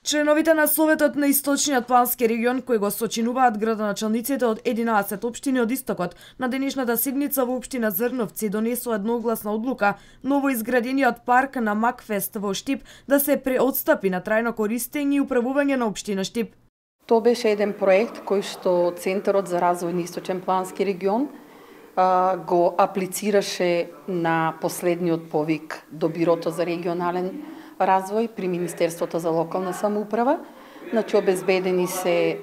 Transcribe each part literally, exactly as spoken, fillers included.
Членовите на Советот на Источниот плански регион, кои го сочинуваат градоначалниците од единаесет општини од Истокот, на денешната седница во општина Зрновци донесува едногласна одлука новоизградениот парк на Макфест во Штип да се преотстапи на трајно користење и управување на општина Штип. Тоа беше еден проект кој што Центарот за развој на Источен плански регион а, го аплицираше на последниот повик до Бирото за регионален развој при Министерството за локална самоуправа. Значи обезбедени се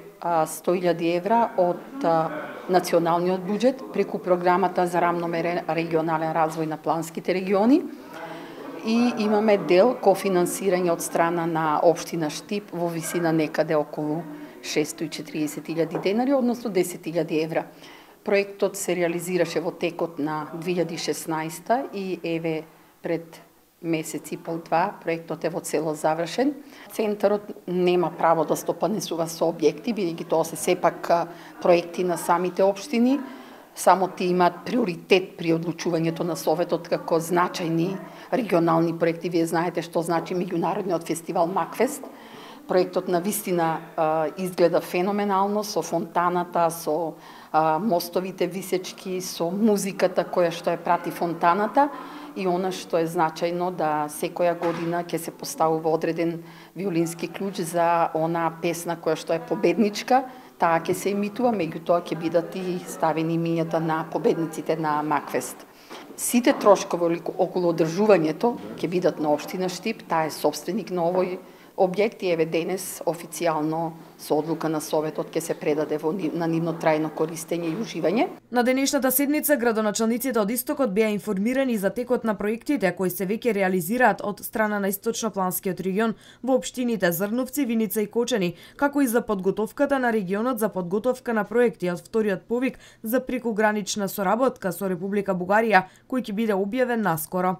сто илјади евра од а, националниот буџет преку програмата за рамномерен регионален развој на планските региони и имаме дел кофинансирање од страна на општина Штип во висина некаде околу шестоста и четириесет илјади денари, односно десет илјади евра. Проектот се реализираше во текот на две илјади и шеснаесета и еве пред месец и пол два, проектот е во цело завршен. Центарот нема право да стопанесува со објекти, бидејќи тоа се сепак проекти на самите општини. Само ти имаат приоритет при одлучувањето на Советот како значајни регионални проекти. Вие знаете што значи меѓународниот фестивал Макфест. Проектот на вистина а, изгледа феноменално со фонтаната, со а, мостовите висечки, со музиката која што ја прати фонтаната и она што е значајно да секоја година ќе се поставува одреден виолински клуч за она песна која што е победничка, таа ќе се емитува, меѓутоа ќе бидат и ставени имињата на победниците на Макфест. Сите трошкови околу одржувањето ќе бидат на општина Штип, таа е собственик на овој објект и еве денес официјално со одлука на Советот ќе се предаде во, на нивно трајно користење и уживање. На денешната седница градоначалниците од Истокот беа информирани за текот на проектите кои се веќе реализираат од страна на Источнопланскиот регион во општините Зрновци, Виница и Кочани, како и за подготовката на регионот за подготовка на проекти од вториот повик за прекугранична соработка со Република Бугарија, кој ќе биде објавен наскоро.